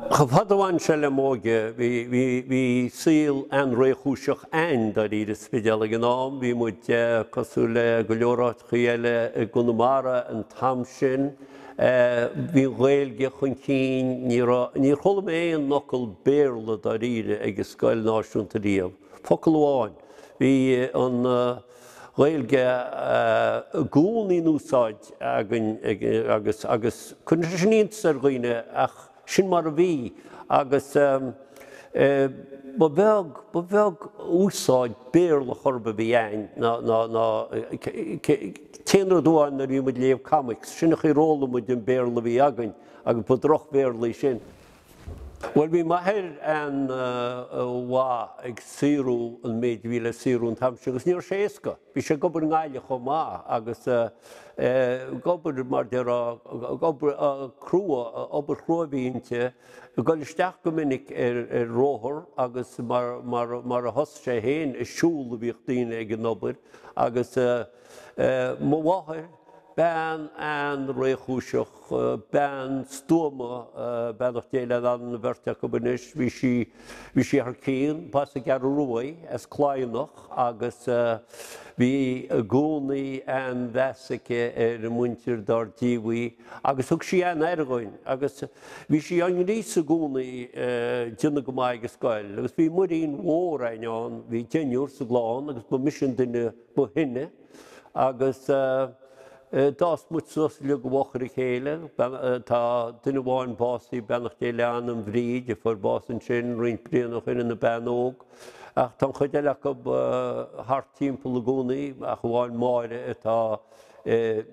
Chomh fada a bhain sé le m'óige, bhí, bhí, bhí saol an-réchúiseach a'ainn dáiríre sa Spidéal ag an am. Bhí muid cosúil le go leor áiteachaí eile i gConamara an t-am sin. Bhí an Ghaeilge chun cinn, ní raibh, níor chuala mé aon fhocal Béarla dáiríre ag an scoil náisiúnta riamh. Focal amháin. Bhí an Ghaeilge i gcónaí in úsáid againn agus, agus cuireann sé sin iontas ar dhaoine ach sin mar a bhí agus ba bheag, ba bheag úsáid Béarla chor ar bith a bhí a'ainn ná, ná, ná, t-aon rud amháin nuair a bhí muid ag léamh comics, sin an chaoi ar fhoghlaim muid an Béarla a bhí againn agus ba droch-Bhéarla é sin. Bhuel, bhí m'athair an-mhaith ag saothrú an méid a bhí le saothrú an t-am sin agus ní raibh sé éasca. Bhí sé ag obair i nGaillimh chomh maith agus ag obair, mar déarfá, obair crua, obair chrua a bhí inti, ag dul isteach go minic ar róthar agus mar, mar, mar a thosaigh sé féin, ag siúl a bhíodh daoine ag an obair agus mo mháthair, bean an-réchúiseach, bean stuama, beannacht Dé lena anam an bheirt acu anois, bhí sí, bhí sí thar cionn, b'as an gCeathrú Rua í, as Cladhnach agus bhí i gcónaí an-mheas aici ar an muintir dár díobh í agus thug sí an-aire dhúinn agus bhí sí á ngríosadh i gcónaí déanamh go maith ag an scoil agus bhí muirín mhór a'inn ann, bhí deichniúr sa gclann agus ba mise an duine ba shine. Agus d'fhás muid suas uilig i bhfochair a chéile. Tá duine amháin básaithe, beannacht Dé lena anam, Bríd, a fuair bás ansin roinnt bliana ó shin ina bean óg. Ach tá an chuid eile acu thart timpeall i gcónaí, ach amháin Máire atá i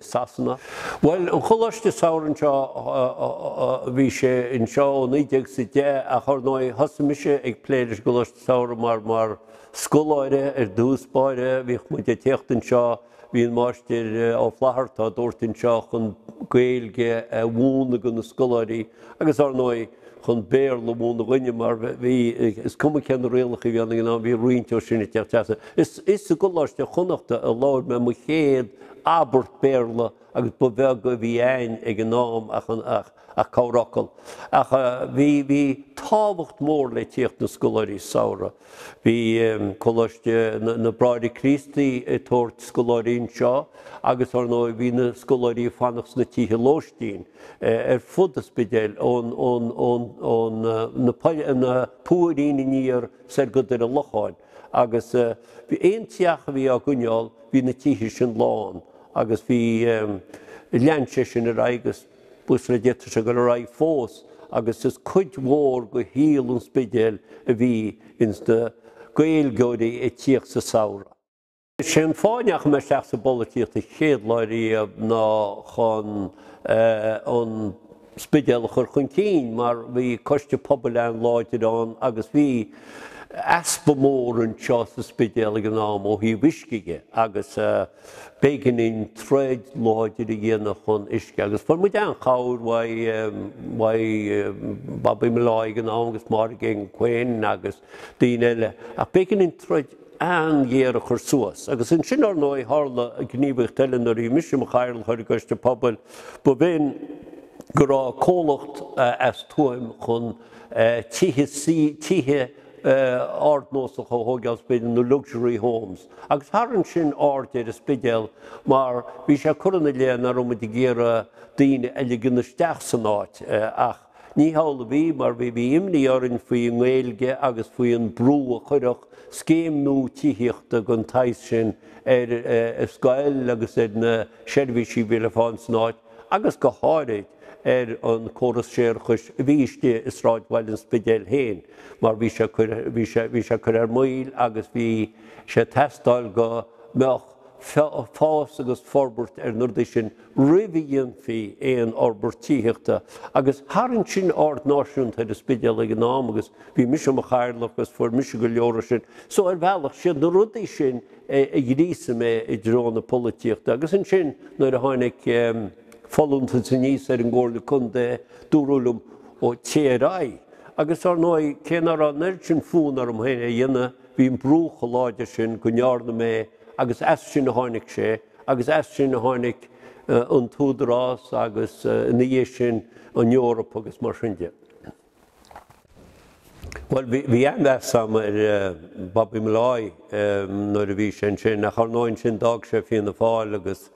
Sasana. Bhuel, an Choláiste Samhraidh anseo, bhí sé anseo ó 1910 ach ar ndóigh thosaigh mise ag plé leis an gColáiste Samhraidh mar, mar, Scoláire ar dtús báire, bhíodh muid ag tíocht anseo, bhí an Máistir Ó Flatharta á dtabhairt anseo chun Gaeilge a mhúineadh do na scoláirí agus ar ndóigh chun Béarla a mhúineadh dhúinne mar bhí, is cuma cé na rialacha a bhí ann ag an am, bhí roinnt ó sin ag teacht trasna. Is i gColáiste Chonnachta a labhair mé mo chéad abairt Béarla agus ba bheag a bhí a'ainn ag an am ach an, ach, ach corrfhocal. Ach bhí, bhí tábhacht mór le tíocht na scoláirí samhraidh. Bhí Coláiste na Bráithre Críostaí ag tabhairt scoláirí anseo agus ar ndóigh bhí na scoláirí ag fanacht sna tithe lóistín ar fud an Spidéil ón, ón, ón, ón na, na Púirín aniar soir go Doire Locháin agus bhí aon teach a bhí á gcoinneáil bhí na tithe sin lán agus bhí, lean sé sin ar aghaidh agus buíochas le Dia tá sé ag dul ar aghaidh fós agus is cuid mhór de shaol an Spidéil a bhí ins na Gaeilgeoirí ag tíocht sa samhradh. Is é an fáth a ndeachaigh mé isteach sa bpolaitíocht an chéad lá riamh ná chun an Spidéal a chur chun cinn mar bhí coiste pobail an-láidir ann agus bhí easpa mór anseo sa Spidéal ag an am ó thaobh uisce dhe agus b'éigean dúinn troid láidir a dhéanamh chun uisce agus fuair muid an-chabhair uaidh Bobby Molloy ag an am agus Máire Geoghegan Quinn agus daoine eile ach b'éigean dúinn troid an-ghéar a chur suas. Agus ansin, ar ndóigh, tharla gníomhaíocht eile nuair a bhí mise i mo chathaoirleach ar an gCoiste Pobail, ba bh'in go raibh comhlacht as Tuaim chun tithe tithe ardnósacha a thóigeáil sa Spidéal, nó luxury homes. Agus tharraing sin aird ar an Spidéal mar bhí sé curtha ina leith nach raibh muid ag iarraidh daoine a ligean isteach san áit ach Ní hamhlaidh a bhí, mar bhí bhí imní orainn faoi an nGaeilge agus faoi an brú a chuirfeadh scéim nua tithíochta den tsaghas sin ar an scoil agus ar na seirbhísí a bhí le fáil san áit agus go háirid ar an córas séarachais a bhí istigh i sráidbhaile an Spidéil féin mar bhí sé bhí sé bhí sé curtha ar maoil agus bhí sé ag teastáil go mbeadh fás agus forbairt ar na rudaí sin roimh a dhéanfaí aon fhorbairt tithíochta agus tharraing sin aird náisiúnta ar an Spidéal ag an am agus bhí mise i mo chathaoirleach agus fuair mise go leor sin. So ar bhealach, siad na rudaí sin a ghríosaigh mé i dtreo na polaitíochta agus ansin nuair a tháinig folúntas aníos ar an gComhairle Contae dúradh liom ó téigh ar aghaidh agus ar ndóigh cé nach raibh an oiread sin fonn orm féin é a dhéanamh bhí an brú chomh láidir sin go ndearna mé agus as sin a tháinig sé agus as sin a tháinig an tÚdarás agus ina dhiaidh sin an Eoraip agus mar sin de. Bhuel, bhí an-mheas agam ar Bobby Molloy nuair a bhí sé ansin, ach ar ndóigh ansin d'fhág sé Fianna Fáil agus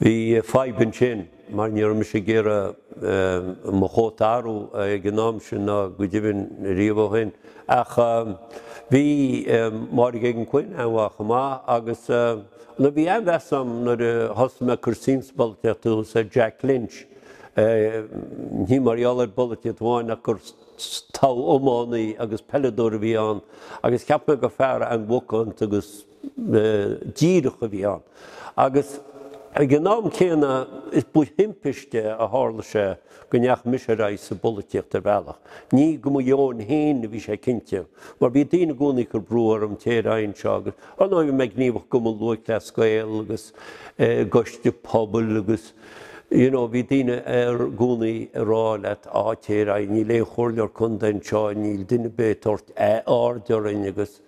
bhí fadhb ansin mar ní raibh mise ag iarraidh mo chóta a athrú ag an am sin ná go deimhin riamh ó shin. Ach bhí Máire Geoghegan-Quinn an-mhaith chomh maith agus nó bhí an-mheas agam nuair a thosaigh mé ag cur suim sa bpolaitíocht thuas ar Jack Lynch. Ní mar gheall ar bpolaitíocht amháin ach gur togha iománaí agus peileadóir a bhí ann agus cheap mé gur fear an-mhacánta agus díreach a bhí ann. Agus ag an am céanna is ba thimpiste a tharla sé go ndeachaigh mise ar aghaidh sa bpolaitíocht ar bhealach. Ní go mo dheoin féin a bhí sé cinnte, mar bhí daoine i gcónaí ag cur brú orm téir ar aghaidh anseo agus ar ndóigh bhí mé gníomhach i gCumann Lúthchleas Gael agus i gcoiste pobail agus You know, bhí daoine i gcónaí ag rá leat, á, téir ar aghaidh, níl aon chomhairleoir contae anseo, níl duine ar bith ag tabhairt aird orainn agus,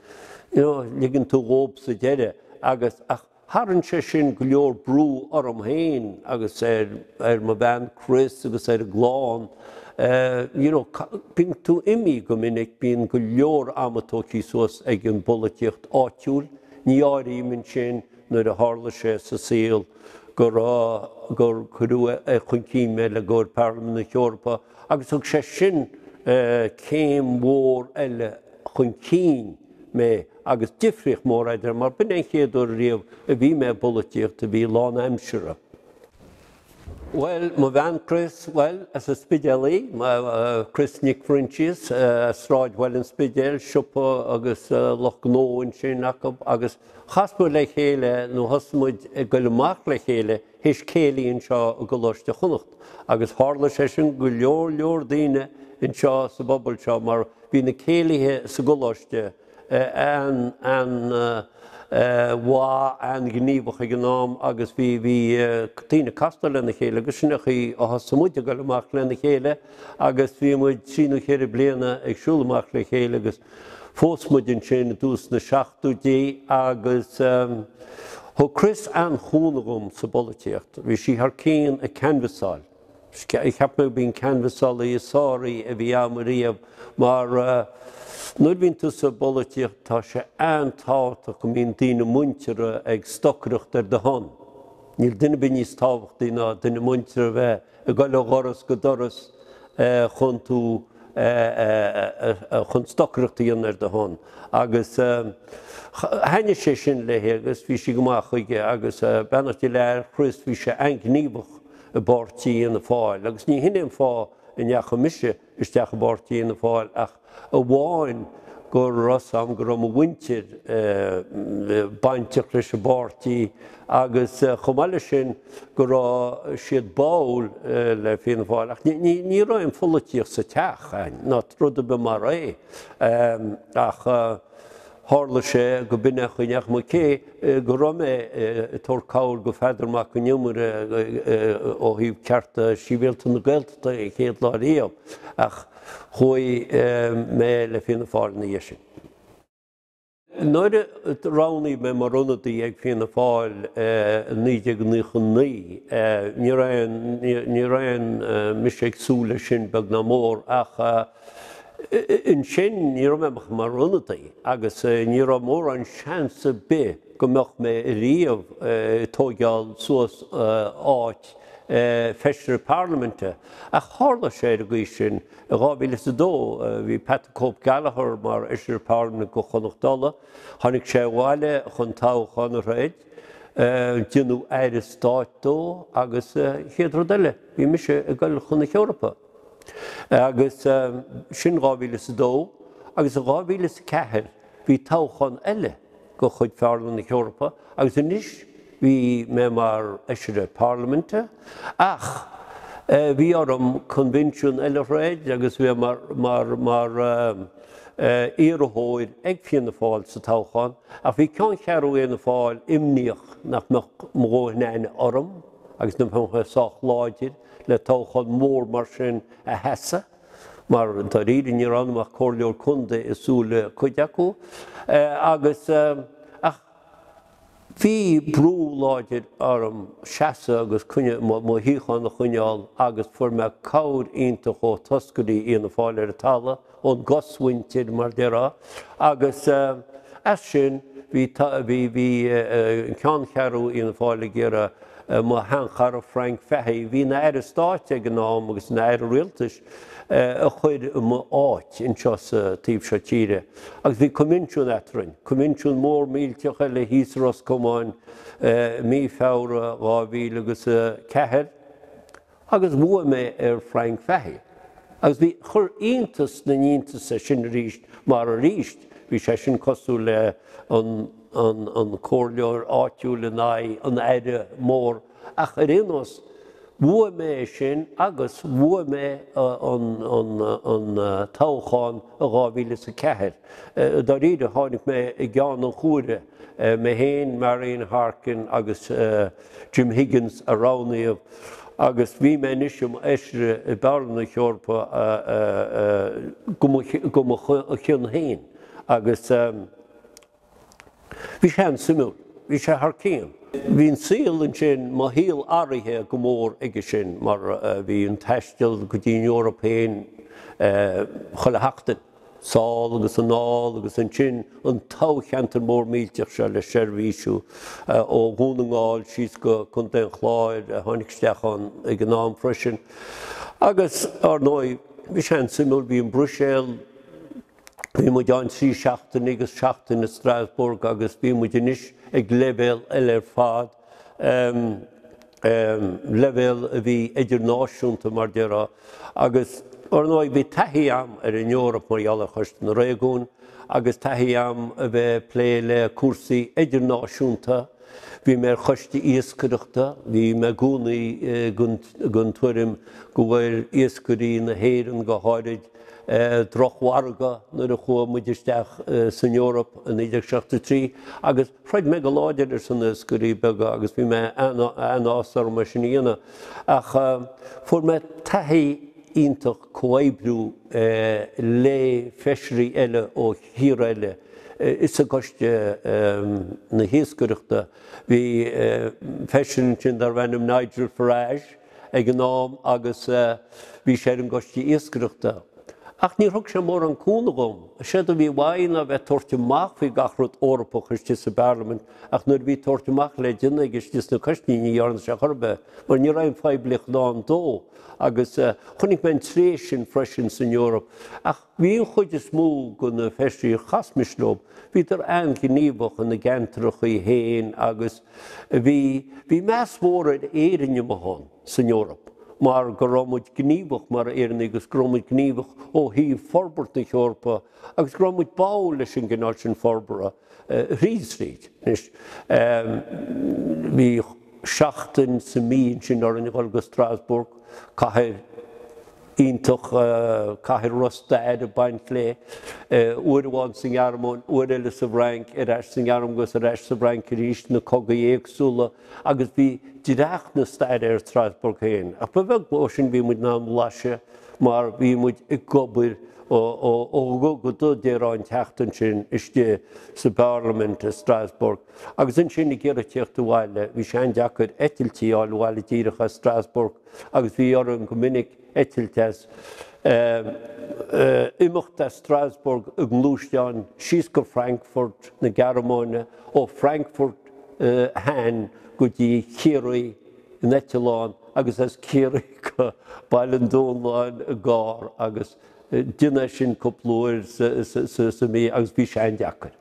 you know, ligeann tú dhób sa deireadh agus, ach tharraing sé sin go leor brú orm féin agus ar, ar mo bhean Chris agus ar an gclann, you know, bíonn tú imithe go minic, bíonn go leor ama tógtha suas ag an bpolaitíocht áitiúil, ní áirím ansin nuair a tharla sé sa saol, go raibh, gur cuireadh chun cinn mé le gcomhair Parlaimint na hEorpa agus thug sé sin céim mhór eile chun cinn mé agus difríocht mhór eadrainn mar b'in é an chéad uair riamh a bhí mé i bpolaitíocht a bhí lánaimseartha. Bhuel, mo bhean Chris, bhuel, as an Spidéal í, Chris Nic Phroinsias, as Sráidbhaile an Spidéil, siopa agus lucht gnó ansin acu agus Chas muid le chéile, nó thosaigh muid ag goil amach le chéile théis céilí anseo i gColáiste Chonnacht agus tharla sé sin go leor leor daoine anseo sa bpobal seo mar bhí na céilithe sa gcoláiste an an mhaith, an-ghníomhach ag an am agus bhí bhí daoine ag castáil lena chéile agus sin an chaoi a thosaigh muid ag goil amach lena chéile agus bhí muid trí nó cheithre bliana ag siúl amach le chéile agus Phós muid ansin i dtús na seachtóidí agus thug Chris an-chúnamh dhom sa bpolaitíocht. Bhí sí thar cionn ag canbhasáil. Cheap mé gurb í an canbhasálaí is fearr a bhí agam ariamh mar nuair a bhíonn tú sa bpolaitíocht tá sé an-tábhachtach go mbíonn daoine muinteartha ag stocaireacht ar do shon. Níl duine ar bith níos tábhachtaí ná duine muinteartha a bheith ag goil ó dhoras go doras chun tú chun stocaireacht a dhéanamh ar do shon agus thaitnigh sé sin léi agus bhí sí go maith chuige agus beannacht Dé le Chris bhí sé an-ghníomhach i bpáirtí Fhianna Fáil agus ní hin é an fáth a ndeachaigh mise isteach i bpáirtí Fhianna Fáil ach amháin go raibh 's a'm go raibh mo mhuintir bainteach leis an bpáirtí agus chomh maith leis sin go raibh siad báúil le Fianna Fáil ach ní raibh aon pholaitíocht sa teach a'inn ná rud ar bith mar é ach tharla sé go b'in é an chaoi a ndeachaigh mé cé go raibh mé ag tabhairt cabhair go Pheadar Mac Con Iomaire ó thaobh cearta sibhialta na Gaeltachta an chéad lá riamh ach Chuaigh mé le Fianna Fáil ina dhiaidh sin. Nuair a roghnaíodh mé mar ionadaí ag Fianna Fáil i 1999, ní raibh ní raibh mise ag súil leis sin beag ná mór ach ansin ní raibh mé ach mar ionadaí agus ní raibh mórán seans ar bith go mbeadh mé riamh ag tóigeáil suas áit feisire parlaiminte. Ach tharla sé ar an gcaoi sin i 2002. Bhí Pat the Cope Gallagher mar fheisire parlaiminte do Chonnacht Uladh. Tháinig sé abhaile chun toghchán a throid. Déanadh aire stáit dó agus chéad rud eile bhí mise ag goil chun na hEorpa. Agus sin 2002 agus i 2004 bhí toghchán eile. de chuid Pharlaimint na hEorpa agus anois bhí mé mar Fheisire Parlaiminte ach bhí orm coinbhinsiún eile a throid agus bheith mar mar mar iarrthóir ag Fianna Fáil sa toghchán ach bhí ceanncheathrú Fhianna Fáil imníoch nach mbeadh mo dhóthain aithne orm agus nach mbeadh mé sách láidir le toghchán mór mar sin a sheasamh. mar dáiríre ní raibh ionam ach comhairleoir contae i súile cuid acu agus ach Bhí brú láidir orm seasamh agus coinne mo shuíochán a choinneáil agus fuair mé cabhair iontach ó toscairí Fhianna Fáil ar an talamh, ón gcosmhuintir mar déarfá, agus as sin bhí bhí bhí an ceanncheathrú Fhianna Fáil ag iarraidh mo sheanchara Frank Fahey, a bhí ina Aire Stáit ag an am agus ina Aire Rialtais, a chur i mo áit anseo sa taobh seo tíre. Agus bhí coinbhinsiún eadrainn, coinbhinsiún mór millteach eile thíos i Ros Comáin mí Feabhra 2000 agus 4, agus bhuaigh mé ar Frank Fahey. Agus bhí, chuir iontas na n-iontas é sin arís mar arís bhí sé sin cosúil le an, an, an comhairleoir áitiúil in aghaidh an aire mór Ach ar aon nós, bhuaigh mé é sin agus bhuaigh mé an toghchán i 2004. Dáiríre, tháinig mé i gceann an chuaire, mé féin, Marian Harkin agus Jim Higgins a roghnaíodh agus bhí mé anois i m'fheisire i bParlaimint na hEorpa go mo chionn féin agus. Bhí sé an-suimiúil. Bhí sé thar cionn. Bhí an saol ansin, mo shaol athraithe go mór aige sin mar bhí an taisteal go dtí an Eoraip féin chuile sheachtain, sall agus anall agus ansin an toghcheantar mór millteach seo le seirbhísiú ó Dhún na nGall síos go Contae an Chláir a tháinig isteach ann ag an am freisin. Agus, ar ndóigh, bhí sé an-suimiúil, bhí an Bhruiséil, Bhí muid ann 3 seachtaine agus seachtain i Strasbourg agus bhí muid anois ag leibhéal eile ar fad, leibhéal a bhí idirnáisiúnta mar déarfá. Agus ar ndóigh bhí taithí a'm ar an Eoraip mar gheall ar Choiste na Réigiún agus taithí a'm a bheith ag plé le cúrsaí idirnáisiúnta. Bhí mé ar choiste iascaireachta, bhí mé i gcónaí den tuairim go bhfuair iascairí na hÉireann go háirid drochmhargadh nuair a chuaigh muid isteach san Eoraip i 1973 agus throid mé go láidir ar son na iascairí beaga agus bhí mé an-áthas orm é sin a dhéanamh. Ach fuair mé taithí iontach comhoibriú le feisirí eile ó thíortha eile. Is i gCoiste na hIascaireachta bhí feisire ansin darbh ainm Nigel Farage ag an am agus bhí sé ar an gCoiste Iascaireachta. Ach níor thug sé mórán cúnamh dhom. Séard a bhí uaidh ná bheith ag tabhairt amach faoi gach rud Eorpach istigh sa bParlaimint ach nuair a bhí tabhairt amach le déanamh aige istigh sna coistí ní dhearna sé chor ar bith mar ní raibh aon phoiblíocht i ndán dó agus chonaic mé an tréith sin freisin san Eoraip. Ach Bhí an chuid is mó de na feisirí a chas mise leo, bhíodar an-ghníomhach ina gceantrachaí féin agus bhí, bhí meas mór ar Éirinn amuigh ann san Eoraip mar go raibh muid gníomhach mar Éireannaigh agus go raibh muid gníomhach ó thaobh forbairt na hEorpa agus go raibh muid báúil leis an gcineál sin forbartha thríd is tríd. Anois, bhí seachtain sa mí ansin orainn a dhul go Strasbourg, cathair, iontach, cathair a raibh stair ag baint léi, uair amháin sa nGearmáin, uair eile sa bhFrainc, ar ais sa nGearmáin agus ar ais sa bhFrainc arís, na cogaí éagsúla agus bhí dreach na staire ar Strasbourg féin. Ach ba bheag ó sin a bhí muid in ann blaiseadh mar bhí muid ag obair ó dhubh go dubh déarfá an tseachtain sin istigh sa bParlaimint i Strasbourg. Agus ansin ag iarraidh tíocht abhaile, bhí sé an-deacair eitiltí a fháil abhaile díreach as Strasbourg. agus bhí orainn go minic eitilt as, imeacht as Strasbourg i ngluaisteán síos go Frankfurt na Gearmáine, ó Frankfurt Hahn go dtí Ciarraí in eitleán agus as Ciarraí go Baile an Dúnláin i gcarr agus Deineadh é sin cúpla uair sa mhí agus bhí sé an-deacair.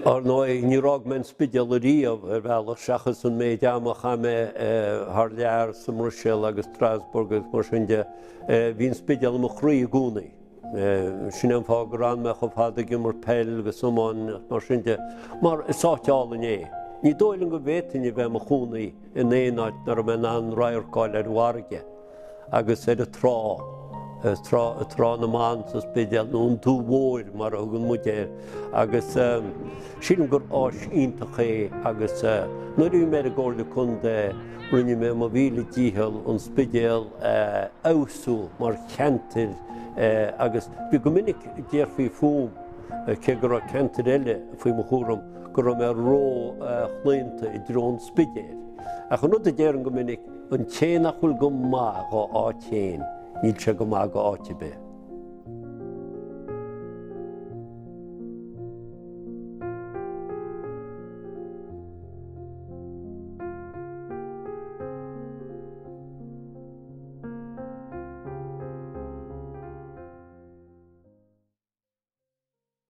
Ar ndóigh, níor fhág mé an Spidéal ariamh, ar bhealach, seachas an méid ama a chaith mé thar lear sa mBruiséil agus Strasbourg agus mar sin de. Bhí an Spidéal i mo chroí i gcónaí. Sin é an fáth gur fhan mé chomh fada ag imirt peil agus iomáin agus mar sin de, mar is áit álainn é. Ní dóigh liom go bhféadfainn a bheith i mo chónaí in aon áit nach raibh mé in ann radharc a fháil ar an bhfarraige. agus ar an trá, trá, Trá na mBan sa Spidéal, nó an Dumhaigh Mhóir mar a thugann muid air, agus sílim gur áis iontach é agus nuair a bhí mé ar an gComhairle Contae rinne mé mo mhíle dícheall an Spidéal a fheabhsú mar cheantar agus bhí go minic déarfaí fúm, cé go raibh ceantair eile faoi mo chúram. go raibh mé ró-chlaonta i dtreo an Spidéil. Ach an rud a déarfainn go minic, an té nach bhfuil go maith dhá áit féin, níl sé go maith go áit ar bith.